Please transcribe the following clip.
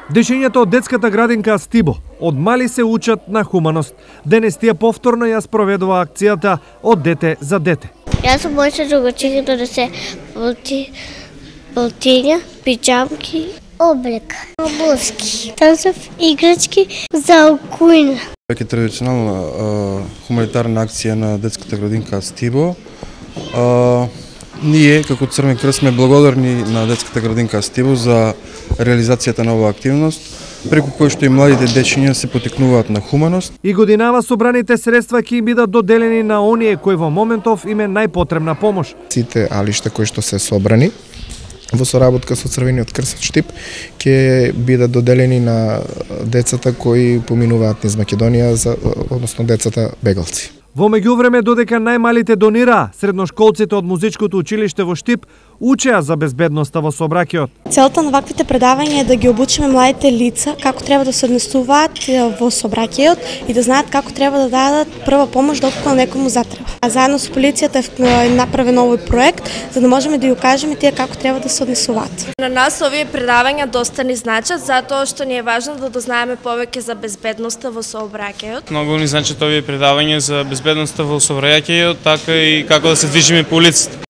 Дечињата од детската градинка Стибо од мали се учат на хуманост. Денес тие повторно ја спроведува акцијата од дете за дете. Јас сум моите другачки донесе полтиња, пиџамки, облека, обуски, танцев, играчки за кујна. Веќе традиционална хуманитарна акција на детската градинка Стибо. Ние, како Црвен крст, сме благодарни на детската градинка Стибо за реализацијата на оваа активност, преку кој што и младите дечиња се потикнуваат на хуманост. И годинава собраните средства ќе им бидат доделени на оние кои во моментов им е најпотребна помош. Сите алишта кои што се собрани во соработка со Црвениот крст Штип ќе бидат доделени на децата кои поминуваат низ Македонија, односно децата бегалци. Во меѓувреме, додека најмалите донираа, средношколците од музичкото училиште во Штип учеа за безбедноста во сообраќајот. Целта на ваквите предавања е да ги обучиме младите лица како треба да се однесуваат во сообраќајот и да знаат како треба да дадат прва помош доколку некому затреба. А заедно со полицијата е направен овој проект за да можеме да ја кажеме тие како треба да се однесуваат. На нас овие предавања доста ни значат затоа што ни е важно да дознаеме повеќе за безбедноста во сообраќајот. Многу ни значат овие предавања за безбедноста во сообраќајот, така и како да се движиме по улиците.